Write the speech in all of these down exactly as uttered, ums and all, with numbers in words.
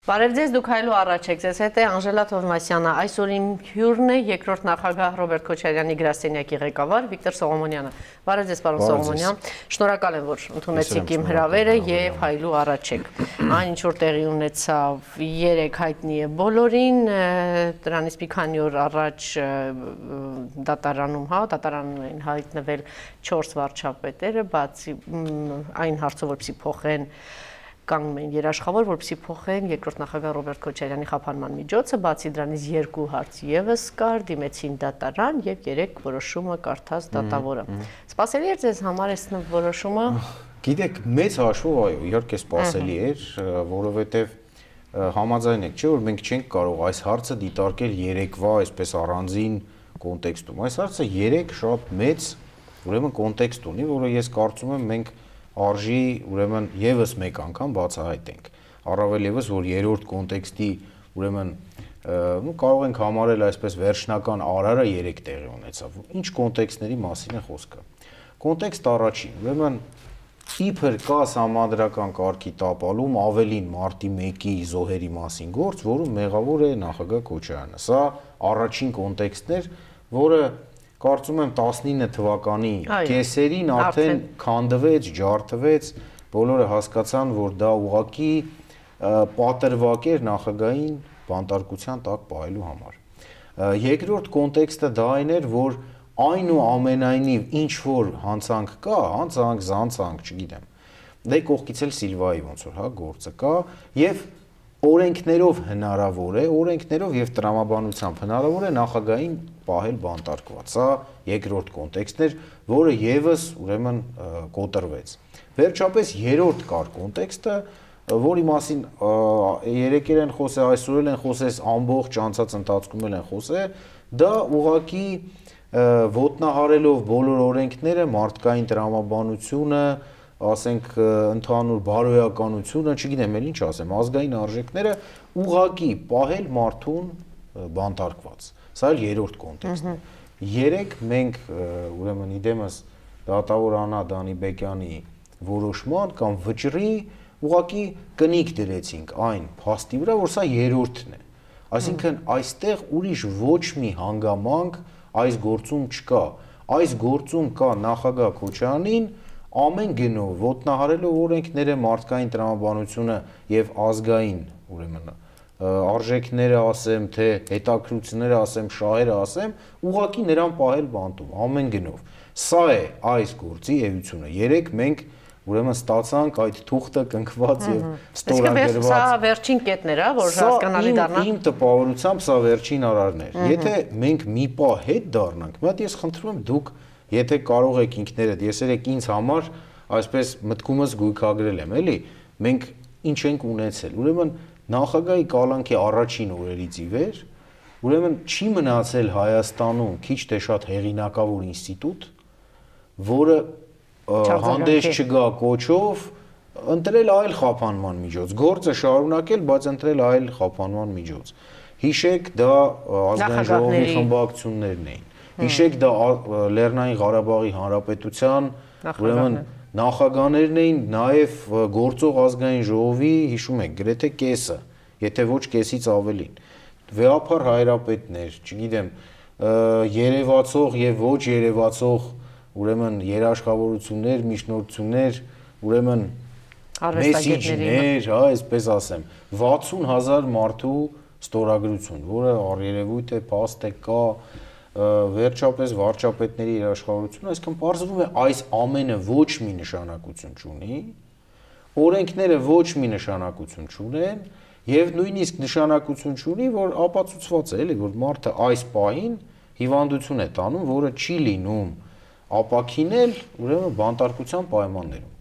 Բարև ձեզ, դուք հայլու առաջ եք, ձեզ հետ է Անժելա Թովմասյանը, այսօր իմ հյուրն է երկրորդ նախագահ Ռոբերտ Քոչարյանի գրասենյակի ղեկավար Վիկտոր Սողոմոնյանը։ Բարև ձեզ, պարոն Սողոմոնյան, շնորհակալ եմ, որ ընդունեցիք իմ հրավերը եւ հայլու առաջ եք։ Այն ինչ որ տեղի ունեցավ երեք հայտնի է բոլորին, դրանից մի քանի օր առաջ դատարանում, հա, դատարանում էին հայտնվել չորս վարչապետերը, բացի այն հարցով, որպեսզի փոխեն կանգնում էին երաշխավոր, որպեսզի փոխեն երկրորդ նախագահ Ռոբերտ Քոչարյանի խափանման միջոցը, բացի դրանից երկու հարց եւս կար, դիմեցին դատարան եւ երեք որոշումը կարդաց դատավորը։ Սպասելի էր ձեզ համար այս որոշումը։ Գիտեք, մեծ հաշվով այո, իհարկե սպասելի էր, որովհետեւ համաձայն եք, չէ՞ որ մենք չենք կարող այս հարցը դիտարկել երեկվա այսպես առանձին կոնտեքստում։ Այս հարցը երեք շատ մեծ, ուրեմն կոնտեքստ ունի, որը ես կարծում եմ մենք արժի ուրեմն եւս մեկ անգամ բացահայտենք, առավել եւս որ երրորդ կոնտեքստի ուրեմն նու կարող ենք համարել այսպես վերջնական արարը երեք տեղի ունեցավ։ Ինչ կոնտեքստների մասին է խոսքը։ Կոնտեքստ առաջին, ուրեմն իբր կա համանդրական կարգի տապալում ավելին մարտի մեկի զոհերի մասին գործ, որում մեղավոր է նախագահ Քոչարյանը։ Սա առաջին կոնտեքստն էր, որը կարծում եմ տասնինը թվականի կեսերին արդեն քանդվեց, ջարդվեց, բոլորը հասկացան, որ դա ուղղակի պատրվակ էր նախագահային բանտարկության տակ պահելու համար։ Երկրորդ կոնտեքստը դա այն էր, որ այնուամենայնիվ ինչ որ հանցանք կա, հանցանք, զանցանք, չգիտեմ, դե կողքից էլ Սիլվայի ոնց որ հա գործը կա եւ օրենքներով հնարավոր է, օրենքներով եւ տրամաբանությամբ հնարավոր է նախագահային պահել բանտարկված։ Սա երկրորդ կոնտեքստն էր, որը եւս ուրեմն կոտրվեց։ Վերջապես երրորդ կար կոնտեքստը, որի մասին երեկեր են խոսել, այսօր էլ են խոսել, ամբողջ անցած ընթացքում էլ են խոսել, դա ուղղակի ոտնահարելով բոլոր օրենքները, մարդկային տրամաբանությունը, ասենք ընդհանուր բարոյականությունը, չգիտեմ էլ ինչ ասեմ, ազգային արժեքները ուղղակի պահել մարդուն բանտարկված։ Սա էլ երրորդ կոնտեքստն է։ Երեք մենք ուրեմն իդեմս դատավոր Աննա Դանիբեկյանի որոշման կամ վճռի ուղղակի կնիկ դրեցինք այն փաստի վրա, որ սա երրորդն է։ Այսինքն այստեղ ուրիշ ոչ մի հանգամանք այս գործում չկա։ Այս գործում կա նախագահ Քոչարյանին ամեն գնով ոտնահարելով օրենքները, մարդկային տրամաբանությունը եւ ազգային ուրեմն արժեքները ասեմ, թե հետաքրությունները ասեմ, շահերը ասեմ, ուղղակի նրան պահել բանտում ամեն գնով։ Սա է այս գործի էությունը։ Երեք մենք ուրեմն ստացանք այդ թուղթը կնքված եւ ստորագրված։ Սա վերջին կետն էր, որ հասկանալի դառնա։ Իմ տպավորությամբ սա վերջին արարն էր։ Եթե մենք մի պա հետ դառնանք, մի հատ ես խնդրում եմ դուք եթե կարող եք ինքներդ, ես երեք ինձ համար այսպես մտքումս գույքագրել եմ, էլի, մենք ինչ ենք ունեցել։ Ուրեմն նախագահի կալանքի առաջին օրերից ի վեր, ուրեմն չի մնացել Հայաստանում քիչ թե շատ հեղինակավոր ինստիտուտ, որը հանդես չգա կոչով ընտրել այլ խափանման միջոց, գործը շարունակել, բայց ընտրել այլ խափանման միջոց։ Հիշեք, դա ազգային ժողովի խմբակցություններն էին։ Հիշեք, դա Լեռնային Ղարաբաղի Հանրապետության ուրեմն նախագահներն էին, նաև գործող ազգային ժողովի, հիշում եք, գրեթե կեսը, եթե ոչ կեսից ավելին։ Վեհափառ հայրապետներ, չգիտեմ, երևացող եւ ոչ երևացող ուրեմն երաշխավորություններ, միջնորդություններ, ուրեմն մեսիջներ, հա, այսպես ասեմ, վաթսուն հազար մարդու ստորագրություն, որը առերևույթ է, փաստ է, կա վերջապես վարչապետների երաշխավորությունը, այսինքն պարզվում է այս ամենը ոչ մի նշանակություն չունի, օրենքները ոչ մի նշանակություն չունեն եւ նույնիսկ նշանակություն չունի, որ ապացուցված է, էլի, որ մարդը այս պահին հիվանդություն է տանում, որը չի լինում ապաքինել, ուրեմն բանտարկության պայմաններում։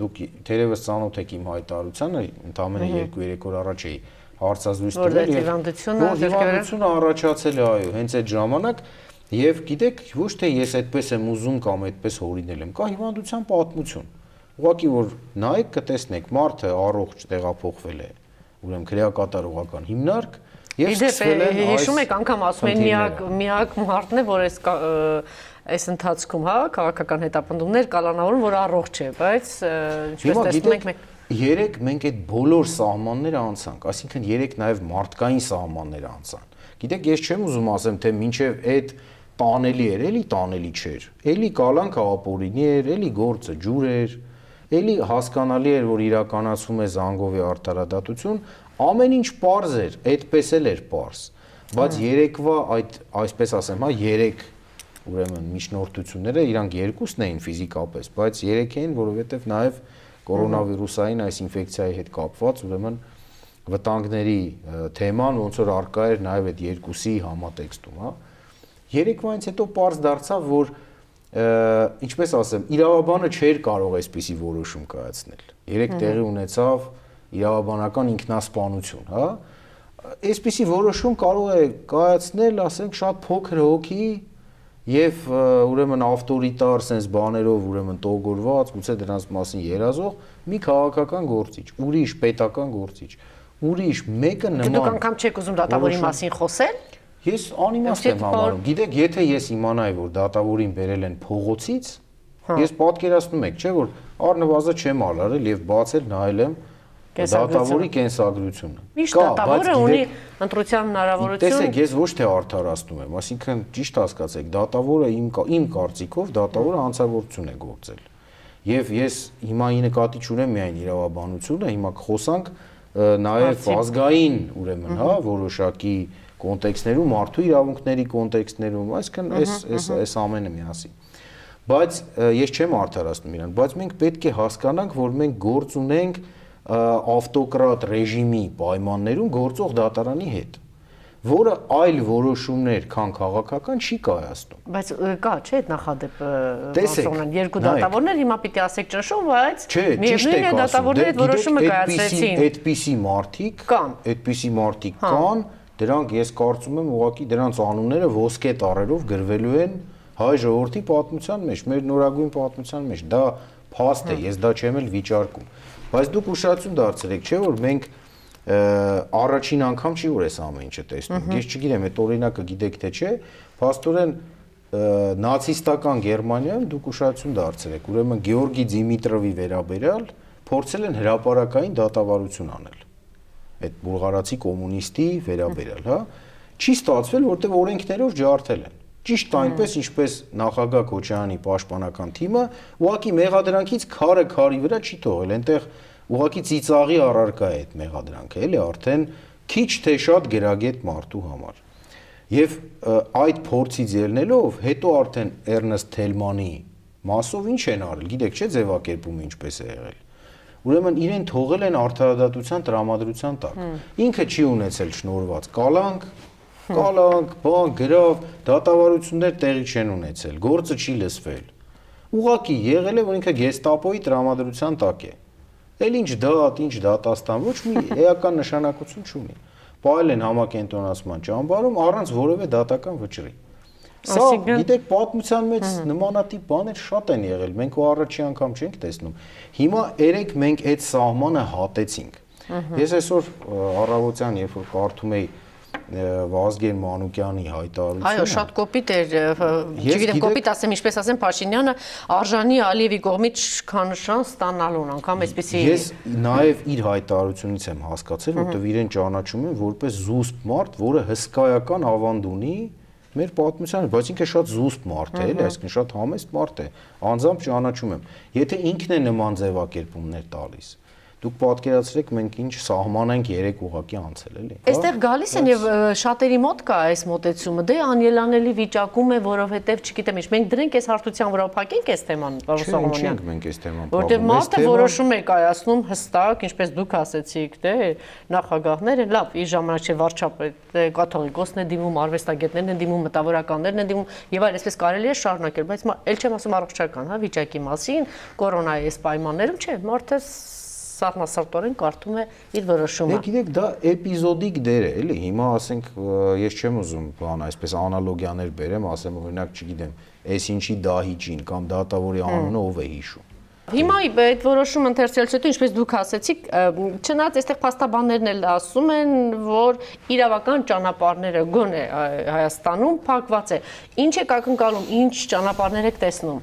Դուք թերևս ծանոթ եք իմ հայտարարությանը, ընդամենը երկու-երեք օր առաջ էի հարցազրույց տվել եւ հիվանդությունը առաջացել է, այո, հենց այդ ժամանակ եւ գիտեք, ոչ թե ես այդպես եմ ուզում կամ այդպես հորինել եմ, կա հիվանդության պատմություն։ Ուղղակի որ նայեք, կտեսնեք, մարդը առողջ տեղափոխվել է, ուրեմն քրեակատարողական հիմնարկ եւ սկսվել է հիշում եք անգամ ասում են միակ միակ մարդն է, որ այս այս ընթացքում, հա, քաղաքական հետապնդումներ կալանավորում, որ առողջ է, բայց ինչպես տեսնում ենք մենք երեք մենք այդ բոլոր սահմանները անցանք, այսինքն երեք նաև մարդկային սահմանները անցան։ Գիտեք, ես չեմ ուզում ասեմ, թե մինչև այդ տանելի էր, էլի տանելի չէր։ Էլի կալանքը ապօրինի էր, էլի գործը ջուր էր, էլի հասկանալի էր, որ իրականացվում է Զանգովի արդարադատություն, ամեն ինչ պարզ էր, այդպես էլ էր պարզ։ Բայց երեկվա այդ, այսպես ասեմ, հա, երեք ուրեմն միջնորդությունները իրանք երկուսն էին ֆիզիկապես, բայց երեք էին, որովհետև նաև կորոնավիրուսային այս ինֆեկցիայի հետ կապված ուրեմն վտանգների թեման ոնց որ արկա էր նաև այդ երկուսի համատեքստում, հա։ Երեկվայից հետո պարզ դարձավ, որ ինչպես ասեմ, իրավաբանը չէր կարող այսպիսի որոշում կայացնել։ Երեք տեղի ունեցավ իրավաբանական ինքնասպանություն, հա։ Այսպիսի որոշում կարող է կայացնել, ասենք, շատ փոքր հոգի եւ ուրեմն ավտորիտար sense բաներով ուրեմն տողորված, գուցե դրանց մասին երազող մի քաղաքական գործիչ, ուրիշ պետական գործիչ, ուրիշ մեկը նման։ Դուք անգամ չեք ուզում դատավորի մասին խոսել։ Ես անիմաստ եմ համարում։ Գիտեք, եթե ես իմանայի, որ դատավորին բերել են փողոցից, ես պատկերացնում եք, չէ՞ որ առնվազն չեմ արարել եւ բացել նայել եմ դատավորի կենսագրությունը։ Միշտ դատավորը ունի ընտրության հնարավորություն։ Տեսեք, ես ոչ թե արդարացնում եմ, այսինքն ճիշտ հասկացեք, դատավորը իմ իմ կարծիքով դատավորը հանցագործություն է գործել։ Եվ ես հիմա ի նկատի չունեմ միայն իրավաբանությունը, հիմա կխոսանք նաև ազգային, ուրեմն, հա, որոշակի կոնտեքստներում, մարդու իրավունքների կոնտեքստներում, այսինքն այս այս այս ամենը միասին։ Բայց ես չեմ արդարացնում իրան, բայց մենք պետք է հասկանանք, որ մենք գործ ունենք ավտոկրատ ռեժիմի պայմաններում գործող դատարանի հետ, որը այլ որոշումներ, քան քաղաքական չի կայացնում։ Բայց կա, չէ՞, այդ նախադեպը, ոնց երկու դատավորներ հիմա պիտի ասեք ճնշում, բայց միևնույն է դատավորները այդ որոշումը կայացրեցին։ Այդպիսի մարդիկ կան, այդպիսի մարդիկ կան, դրանք ես կարծում եմ ուղղակի դրանց անունները ոսկե տառերով գրվելու են հայ ժողովրդի պատմության մեջ, մեր նորագույն պատմության մեջ։ Դա փաստ է, ես դա չեմ էլ վիճարկում։ Բայց դուք ուշադրություն դարձրեք, չէ՞ որ մենք առաջին անգամ չի որ այս ամեն ինչը տեսնում։ Ես չգիտեմ, այդ օրինակը գիտեք թե չէ, փաստորեն նացիստական Գերմանիայում դուք ուշադրություն դարձրեք, ուրեմն Գեորգի Դիմիտրովի վերաբերյալ փորձել են հրապարակային դատավարություն անել։ Այդ բուլղարացի կոմունիստի վերաբերյալ, հա, չի ստացվել, որտեղ օրենքներով ջարդել են։ Ճիշտ այնպես, ինչպես նախագահ Քոչարյանի պաշտպանական թիմը ուղղակի մեղադրանքից քարը քարի վրա չի թողել, այնտեղ ուղղակի ծիծաղի առարկա է այդ մեղադրանքը, էլի արդեն քիչ թե շատ գրագետ մարդու համար։ Եվ այդ փորձից ելնելով, հետո արդեն Էրնեստ Թելմանի մասով ինչ են արել, գիտեք չէ ձևակերպումը ինչպես է եղել։ Ուրեմն իրեն թողել են արդարադատության տրամադրության տակ։ Ինքը չի ունեցել շնորհված կալանք, կալանք, բան, գրավ, դատավարություններ տեղի չեն ունեցել, գործը չի լսվել։ Ուղղակի եղել է, որ ինքը գեստապոյի տրամադրության տակ է։ Էլ ինչ դատ, ինչ դատաստան, ոչ մի էական նշանակություն չունի։ Պահել են համակենտրոնացման ճամբարում առանց որևէ դատական վճռի։ Սա, գիտեք, պատմության մեջ նմանատիպ բաներ շատ են եղել, մենք ու առաջի անգամ չենք տեսնում։ Հիմա երեք մենք այդ սահմանը հատեցինք։ Ես այսօր առավոտյան, երբ որ կարդում էի Վազգեն Մանուկյանի հայտարարությունը։ Այո, շատ կոպիտ էր, չգիտեմ, կոպիտ ասեմ, ինչպես ասեմ, Փաշինյանը արժանի Ալիևի կողմից քանշան ստանալուն, անգամ այսպեսի։ Ես նաև իր հայտարարությունից եմ հասկացել, որտեղ իրեն ճանաչում են որպես զուսպ մարդ, որը հսկայական ավանդ ունի մեր պատմությանը, բայց ինքը շատ զուսպ մարդ է, էլի, այսինքն շատ համեստ մարդ է, անձամբ ճանաչում եմ։ Եթե ինքն է նման ձևակերպումներ տալիս, դուք պատկերացրեք մենք ինչ սահման ենք երեք ուղակի անցել, էլի։ Այստեղ գալիս են եւ շատերի մոտ կա այս մոտեցումը, դե անելանելի վիճակում է, որովհետեւ չգիտեմ ինչ, մենք դրենք այս հարթության վրա փակենք այս թեման, պարոն Սողոմոնյան։ Չենք մենք այս թեման փակում։ Որտեղ մարդը որոշում է կայացնում հստակ, ինչպես դուք ասեցիք, դե նախագահները, լավ, իր ժամանակ չէ վարչապետ, կաթողիկոսն է դիմում, արվեստագետներն են դիմում, մտավորականներն են դիմում եւ այլ, այսպես կարելի է շարունակել, բայց ել չեմ ասում առողջական, հա, վիճակի մասին, կորոնայի այս պայմաններում չէ, մարդը սառնասրտորեն կարդում է իր որոշումը։ Դե գիտեք, դա էպիզոդիկ դեր է, էլի։ Հիմա ասենք, ես չեմ ուզում բան այսպես անալոգիաներ բերեմ, ասեմ օրինակ, չգիտեմ, այս ինչի դահիճին կամ դատավորի անունը ով է հիշում։ Հիմա այդ որոշումը ընթերցելուց հետո, ինչպես դուք ասեցիք, չնայած այստեղ փաստաբաններն էլ ասում են, որ իրավական ճանապարհները գոնե Հայաստանում փակված է։ Ինչ եք ակնկալում, ինչ ճանապարհներ եք տեսնում։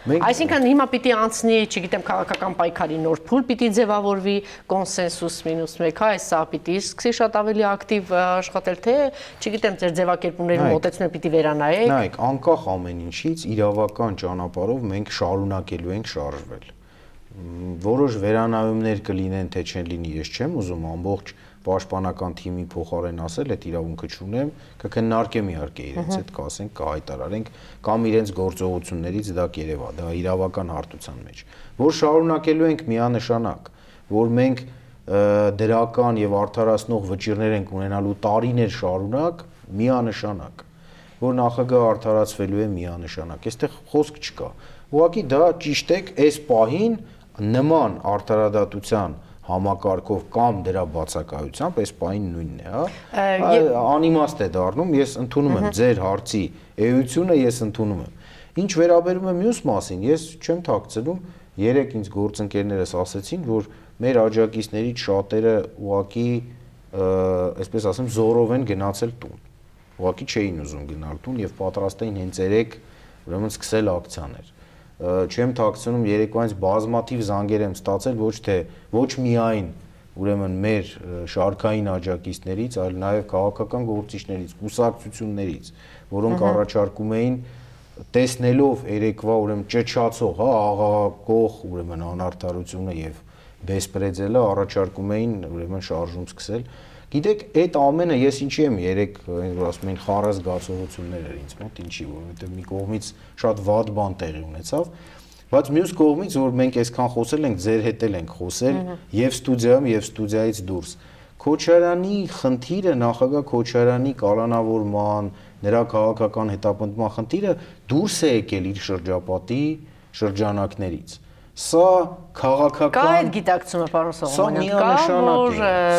Այսինքն հիմա պիտի անցնի, չգիտեմ, քաղաքական պայքարի նոր փուլ պիտի ձևավորվի, կոնսենսուս մինուս մեկ, այս սա պիտի սկսի շատ ավելի ակտիվ աշխատել, թե չգիտեմ, ձեր ձևակերպումների մոտեցումը պիտի վերանայեք։ Նայեք, անկախ ամեն ինչից իրավական ճանապարհով մենք շարունակելու ենք շարժվել։ Որոշ վերանայումներ կլինեն, թե չեն լինի, ես չեմ ուզում ամբողջ պաշտպանական թիմի փոխարեն ասել, այդ իրավունքը չունեմ, կքննարկեմ իհարկե իրենց հետ, կասենք, կհայտարարենք, կամ իրենց գործողություններից դա կերևա, դա իրավական հարթության մեջ, որ շարունակելու ենք միանշանակ, որ մենք դրական եւ արդարացնող վճիռներ ենք ունենալու տարիներ շարունակ, միանշանակ, որ նախագահը արդարացվելու է միանշանակ, այստեղ խոսք չկա։ Ուղղակի դա ճիշտ է, այս պահին նման արդարադատության համակարգով կամ դրա բացակայությամբ այս պահին նույնն է, հա։ Անիմաստ է դառնում, ես ընդունում եմ ձեր հարցի էությունը, ես ընդունում եմ։ Ինչ վերաբերում է մյուս մասին, ես չեմ թաքցնում, երեք ինձ գործընկերներս ասեցին, որ մեր աջակիցներից շատերը ուղղակի, այսպես ասեմ, զորով են գնացել տուն։ Ուղղակի չէին ուզում գնալ տուն եւ պատրաստ էին հենց երեք ուրեմն սկսել ակցիաներ։ Չեմ թաքցնում, երեկոյանից բազմաթիվ զանգեր եմ ստացել ոչ թե ոչ միայն ուրեմն մեր շարքային աջակիցներից, այլ նաև քաղաքական գործիչներից, կուսակցություններից, որոնք առաջարկում էին տեսնելով երեկվա ուրեմն ճճացող, հա, աղաղակող ուրեմն անարդարությունը եւ բեսպրեդելը առաջարկում էին ուրեմն շարժում սկսել։ Գիտեք, այդ ամենը ես ինչի եմ երեք որ ասում են խառը զգացողություններ էր ինձ մոտ, ինչի, որովհետև մի կողմից շատ վատ բան տեղի ունեցավ, բայց մյուս կողմից որ մենք այսքան խոսել ենք, ձեր հետ էլ ենք խոսել եւ ստուդիայում եւ ստուդիայից դուրս։ Քոչարյանի խնդիրը, նախագահ Քոչարյանի կալանավորման, նրա քաղաքական հետապնդման խնդիրը դուրս է եկել իր շրջապատի շրջանակներից։ Սա քաղաքական Կա այդ գիտակցումը, պարոն Սողոմոնյան,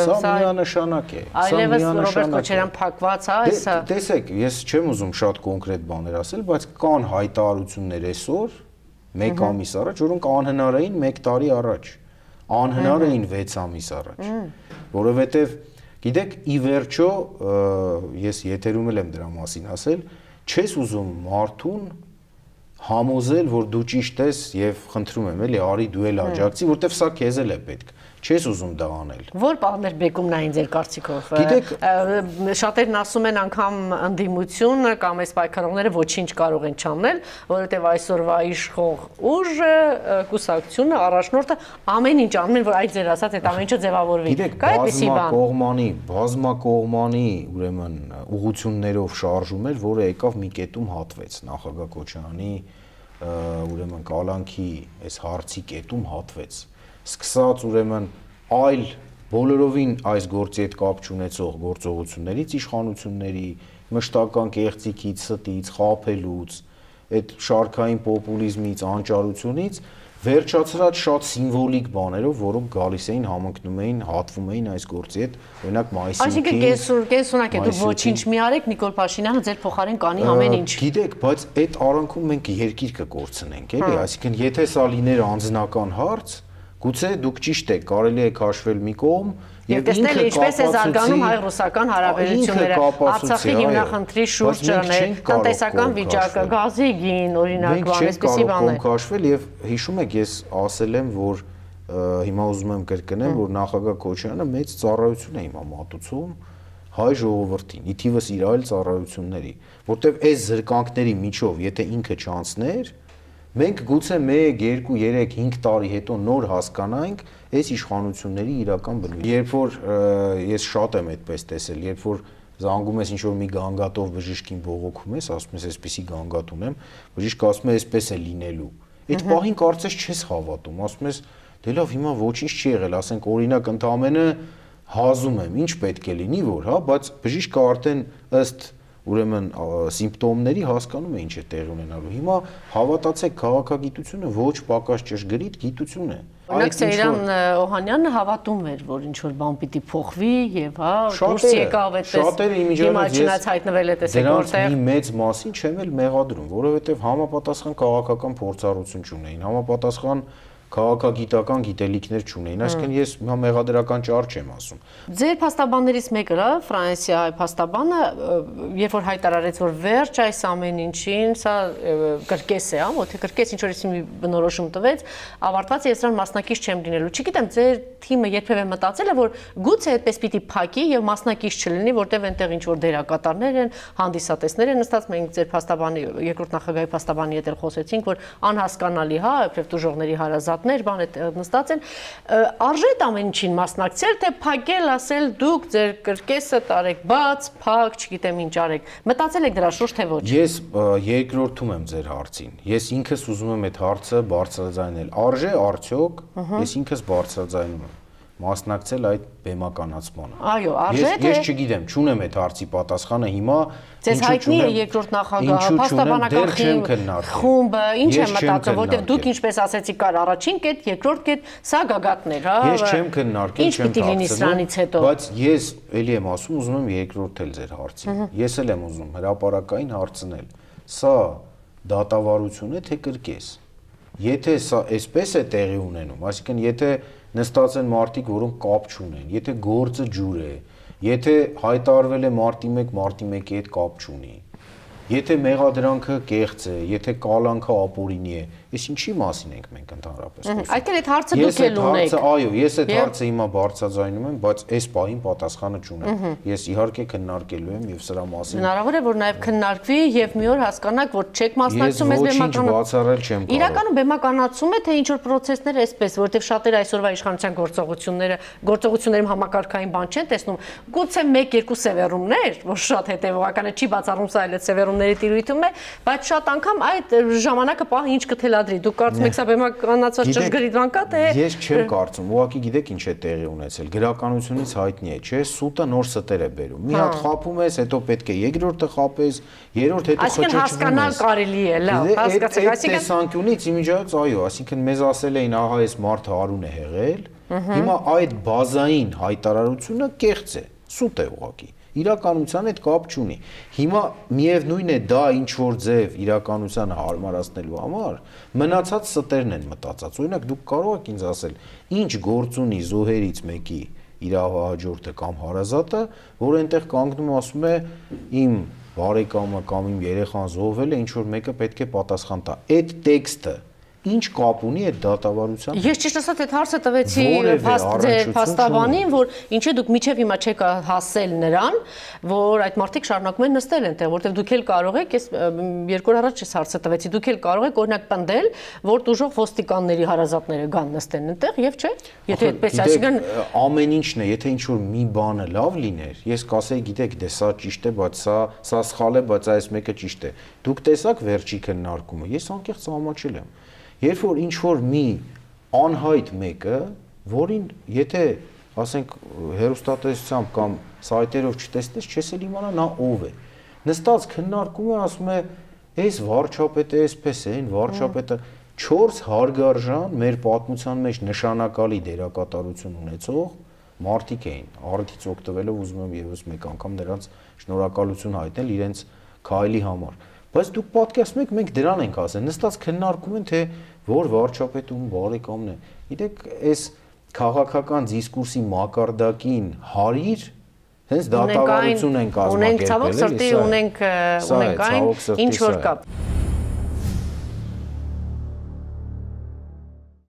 սա միանշանակ է։ Այլևս Ռոբերտ Քոչարյան փակված է, սա։ Տեսեք, ես չեմ ուզում շատ կոնկրետ բաներ ասել, բայց կան հայտարարություններ այսօր, մեկ ամիս առաջ, որոնք անհնար էին մեկ տարի առաջ, անհնար էին վեց ամիս առաջ, որովհետև գիտեք, ի վերջո, ես եթերում եմ դրա մասին ասել, չես ուզում մարդուն համոզել, որ դու ճիշտ ես եւ խնդրում եմ, էլի, արի դու էլ աջակցի, որտեվ սա քեզ էլ է պետք։ Չես ուզում դա անել։ Որ բաներ բեկումն այն ձեր կարծիքով։ Շատերն ասում են անգամ ընդդիմություն կամ այս պայքարողները ոչինչ կարող են չանել, որովհետեւ այսօրվա իշխող ուժը, կուսակցությունը, առաջնորդը ամեն ինչ անում են, որ այդ ձեր ասած այդ ամեն ինչը ձևավորվի։ Կա այդպիսի բան։ Բազմակողմանի, բազմակողմանի, ուրեմն ուղղություններով շարժում էր, որը եկավ մի կետում հատվեց նախագահ Քոչարյանի ուրեմն կալանքի այս հարցի կետում հատվեց։ Սկսած ուրեմն այլ բոլորովին այս գործի հետ կապ չունեցող գործողություններից, իշխանությունների, մշտական կեղծիքից, ստից, խաբելուց, այդ շարքային պոպուլիզմից, անճարությունից վերջացրած շատ սիմվոլիկ բաներով, որոնք գալիս էին, համընկնում էին, հատվում էին այս գործի հետ, օրինակ մայիսի ութին։ Այսինքն կեսունակ է, դուք ոչինչ մի արեք, Նիկոլ Փաշինյանը ձեր փոխարեն կանի ամեն ինչ։ Գիտեք, բայց այդ արանքում մենք երկիր կկորցնենք, էլի, այսինքն եթե սա լիներ անձնական հարց, գուցե դուք ճիշտ եք, կարելի է քաշվել մի կողմ եւ տեսնել ինչպես է զարգանում հայ-ռուսական հարաբերությունները, Արցախի հիմնախնդրի շուրջ, տնտեսական վիճակը, գազի գին, օրինակ, այսպիսի բաներ։ Քաշվել եւ հիշում եք, ես ասել եմ, որ հիմա ուզում եմ կրկնել, որ նախագահ Քոչարյանը մեծ ծառայություն է հիմա մատուցում հայ ժողովրդին, ի թիվս իր այլ ծառայությունների, որտեվ այս զրկանքների միջով, եթե ինքը չանցներ, մենք գուցե մեկ, երկու, երեք, հինգ տարի հետո նոր հասկանանք այս իշխանությունների իրական բնույթը։ Երբ որ ես շատ եմ այդպես տեսել, երբ որ զանգում ես ինչ-որ մի գանգատով բժիշկին բողոքում ես, ասում ես այսպեսի գանգատ ունեմ, բժիշկը ասում է այսպես է լինելու։ Այդ պահին կարծես չես հավատում, ասում ես դե լավ, հիմա ոչինչ չի եղել, ասենք օրինակ ընդամենը հազում եմ, ինչ պետք է լինի, որ, հա, բայց բժիշկը արդեն ըստ ուրեմն սիմպտոմների հասկանում է ինչ է տեղի ունենալու։ Հիմա հավատացեք, քաղաքագիտությունը ոչ պակաս ճշգրիտ գիտություն է։ Օրինակ Սեյրան Օհանյանը հավատում էր, որ ինչ որ բան պիտի փոխվի եւ հա դուրս եկավ այդպես։ Շատերը իմիջիայլոց ես հայտնվել է տեսեք որտեղ։ Դրանց մի մեծ մասին չեմ էլ մեղադրում, որովհետեւ համապատասխան քաղաքական փորձառություն չունեին, համապատասխան քաղաքագիտական գիտելիքներ չունեին, այսինքն ես հիմա մեղադրական ճար չեմ ասում։ Ձեր փաստաբաններից մեկը, Ֆրանսիայի փաստաբանը, երբ որ հայտարարեց, որ վերջ այս ամեն ինչին, սա կրկես է, հա, թե կրկես ինչ որ մի բնորոշում տվեց, ավարտված է, ես դրան մասնակից չեմ լինելու։ Չգիտեմ, ձեր թիմը երբևէ մտածել է, որ գուցե այդպես պիտի փակի եւ մասնակից չլինի, որտեղ այնտեղ ինչ որ դերակատարներ են, հանդիսատեսներ են նստած, մենք ձեր փաստաբանի երկրորդ նախագահի փաստաբանի հետ էլ խոսեցինք, որ անհասկանալի, հա, իբրև դժողների հարազատներ, բան է նստած են, արժե այդ ամեն ինչին մասնակցել, թե փակել, ասել դուք ձեր կրկեսը տարեք բաց, փակ, չգիտեմ ինչ արեք։ Մտածել եք դրա շուրջ թե ոչ։ Ես երկրորդում եմ ձեր հարցին։ Ես ինքս ուզում եմ այդ հարցը բարձրաձայնել։ Արժե արդյոք, ես ինքս բարձրաձայնում եմ մասնակցել այդ բեմականացմանը։ Այո, արժե թե ես չգիտեմ, չունեմ այդ հարցի պատասխանը հիմա։ Ձեզ հայտնի է երկրորդ նախագահը, փաստաբանական խումբը, ինչ է մտածում, որտեղ դուք ինչպես ասեցիք, կար առաջին կետ, երկրորդ կետ, սա գագաթներ, հա։ Ես չեմ քննարկել, չեմ հարցնում, բայց ես էլի եմ ասում, ուզում եմ երկրորդել ձեր հարցին։ Ես էլ եմ ուզում հրապարակային հարցնել։ Սա դատավարություն է թե կրկես։ Եթե սա այսպես է տեղի ունենում, այսինքն եթե նստած են մարդիկ, որոնք կապ չունեն, եթե գործը ջուր է, եթե հայտարարվել է մարտի մեկ, մարտի մեկի հետ կապ չունի, եթե մեղադրանքը կեղծ է, եթե կալանքը ապօրինի է, ես ինչի մասին ենք մենք ընդհանրապես խոսում։ Այդ էլ այդ հարցը դուք էլ ունեք։ Այո, ես այդ հարցը հիմա բարձրաձայնում եմ, բայց այս պահին պատասխանը չունեմ։ Ես իհարկե քննարկելու եմ եւ սրա մասին։ Հնարավոր է, որ նաեւ քննարկվի եւ մի օր հասկանաք, որ չեք մասնակցում այս բեմականացումը։ Ես ոչինչ բացառել չեմ կարող։ Իրականում բեմականացում է թե ինչ որ process-ներ էսպես, որտեղ շատերը այսօրվա իշխանության գործողությունները, գործողություններում համակարգային բան չեն տեսնում։ Գուցե մեկ-երկու սևեռումներ, որ շատ հետեւողական է, չի բացառում սա այլ սևեռումների տիրույթում է, բայց շատ անգամ այդ ժամանակը պահ ինչ կթելադրի։ Դուք կարծում եք սա բեմականացված ճշգրիտ բան կա թե։ Ես չեմ կարծում, ուղղակի գիտեք ինչ է տեղի ունեցել։ Գրականությունից հայտնի է, չէ՞, սուտը նոր ստեր է բերում։ Մի հատ խափում ես, հետո պետք է երկրորդը խափես, երրորդ հետո խճճվում ես։ Այսինքն հասկանալ կարելի է, լավ, հասկացեք, այսինքն տեսանկյունից իմիջիայից այո, այսինքն մեզ ասել էին ահա այս մարդը Արուն է եղել, հիմա այդ բազային հայտարարությունը կեղծ է, սուտ է ուղղակի։ Իրականության հետ կապ չունի։ Հիմա միևնույն է դա ինչ որ ձև իրականությանը հարմարացնելու համար մնացած ստերն են մտածած։ Օրինակ դուք կարող եք ինձ ասել, ինչ գործ ունի զոհերից մեկի իրավահաջորդը կամ հարազատը, որ այնտեղ կանգնում ասում է իմ բարեկամը կամ իմ երեխան զոհվել է, ինչ որ մեկը պետք է պատասխան տա։ Այդ տեքստը ինչ կապ ունի այդ դատավարությամբ։ Ես ճիշտ ասած այդ հարցը տվեցի ձեր փաստաբանին, որ ինչե դուք միջև հիմա չեք հասել նրան, որ այդ մարդիկ շարունակում են նստել այնտեղ, որտեղ դուք էլ կարող եք, ես երկու օր առաջ ես հարցը տվեցի, դուք էլ կարող եք օրինակ պնդել, որ դժոխք ոստիկանների հարազատները գան նստեն այնտեղ, եւ չէ։ Եթե այդպես այսինքն ամեն ինչն է, եթե ինչ որ մի բանը լավ լիներ, ես կասեի, գիտեք, դե սա ճիշտ է, բայց սա սա սխալ է, բայց այս մեկը ճիշտ է։ Դուք տեսաք վերջի քննարկումը, ես անկեղծ համաչել եմ։ Երբ որ ինչ որ մի անհայտ մեկը, որին եթե ասենք հեռուստատեսությամբ կամ սայթերով չտեսնես, չես էլ իմանա նա ով է։ Նստած քննարկում է, ասում է, «Էս վարչապետը էսպես է, այն վարչապետը» չորս հարգարժան մեր պատմության մեջ նշանակալի դերակատարություն ունեցող մարդիկ էին։ Առիթից օգտվելով ուզում եմ եւս մեկ անգամ նրանց շնորհակալություն հայտնել իրենց քայլի համար։ Բայց դուք պատկերացնում եք, մենք դրան ենք ասել, նստած քննարկում են, թե որ վարչապետում բարեկամն է։ Գիտեք, այս քաղաքական դիսկուրսի մակարդակին հարիր, հենց դատավարություն են կազմակերպել։ Ունենք ցավոք սրտի, ունենք ունենք այն, ինչ որ կա։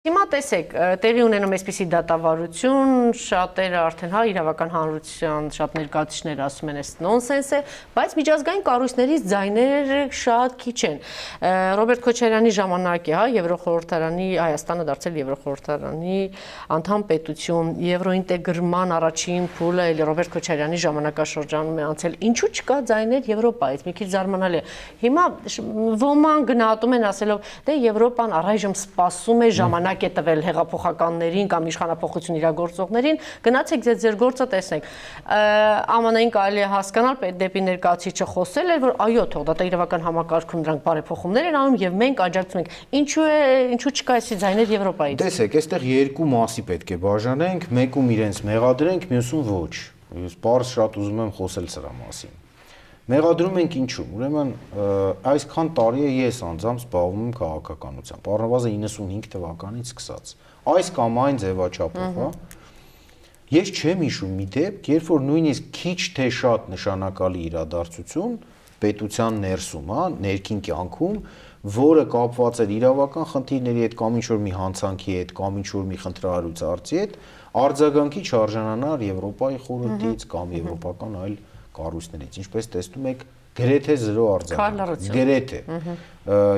Հիմա տեսեք, տեղի ունենում այսպիսի դատավարություն, շատերը արդեն հա իրավական հանրության շատ ներկայացուցիչներ ասում են, այս նոնսենս է, բայց միջազգային կառույցներից ձայները շատ քիչ են։ Ռոբերտ Քոչարյանի ժամանակի, հա, Եվրոխորհրդարանի Հայաստանը դարձել Եվրոխորհրդարանի անդամ պետություն, եվրոինտեգրման առաջին փուլը էլ Ռոբերտ Քոչարյանի ժամանակաշրջանում է անցել։ Ինչու չկա ձայներ Եվրոպայից, մի քիչ զարմանալի է։ Հիմա ոման գնահատում են ասելով, դե Եվրոպան առայժմ սպասում է ժամանակ է տվել հեղափոխականներին կամ իշխանապողություն իրագործողներին, գնացեք ձեր ձեր գործը տեսնեք։ Ամանային կարելի է հասկանալ դեպի ներկայացուցիչը խոսել էր, որ այո, թող դատաիրավական համակարգում դրանք բարեփոխումներ են անում եւ մենք աջակցում ենք։ Ինչու է, ինչու չկա այսի ձայներ Եվրոպայից։ Տեսեք, այստեղ երկու մասի պետք է բաժանենք, մեկում իրենց մեղադրենք, մյուսում ոչ։ Ես բարձ շատ ուզում եմ խոսել սրա մասին։ Մեղադրում ենք ինչու՞։ Ուրեմն այսքան տարի է ես անձամբ զբաղվում եմ քաղաքականությամբ, առնվազն իննսունհինգ թվականից սկսած։ Այս կամ այն ձևաչափով, հա։ Ես չեմ հիշում մի դեպք, երբ որ նույնիսկ քիչ թե շատ նշանակալի իրադարձություն պետության ներսում, հա, ներքին կյանքում, որը կապված էր իրավական խնդիրների հետ կամ ինչ-որ մի հանցանքի հետ, կամ ինչ-որ մի խնդրահարույցի հետ, արձագանքի չարժանանար Եվրոպայի խորհրդից կամ եվրոպական այլ կառույցներից, ինչպես տեսնում եք, գրեթե զրո արձագանք, գրեթե։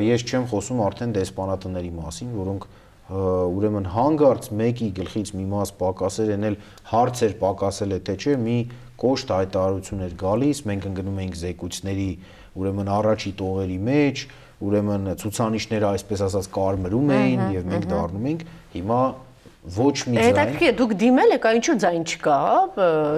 Ես չեմ խոսում արդեն դեսպանատների մասին, որոնք ուրեմն հանգարց մեկի գլխից մի մաս պակասեր, են էլ հարցեր պակասել է թե չէ, մի կոշտ հայտարարություն էր գալիս, մենք ընկնում էինք զեկույցների ուրեմն առաջի տողերի մեջ, ուրեմն ցուցանիշները այսպես ասած կարմրում էին եւ մենք դառնում ենք հիմա ոչ մի ձայն։ Հետաքրքիր է, դուք դիմել եք, այնչու ձայն չկա,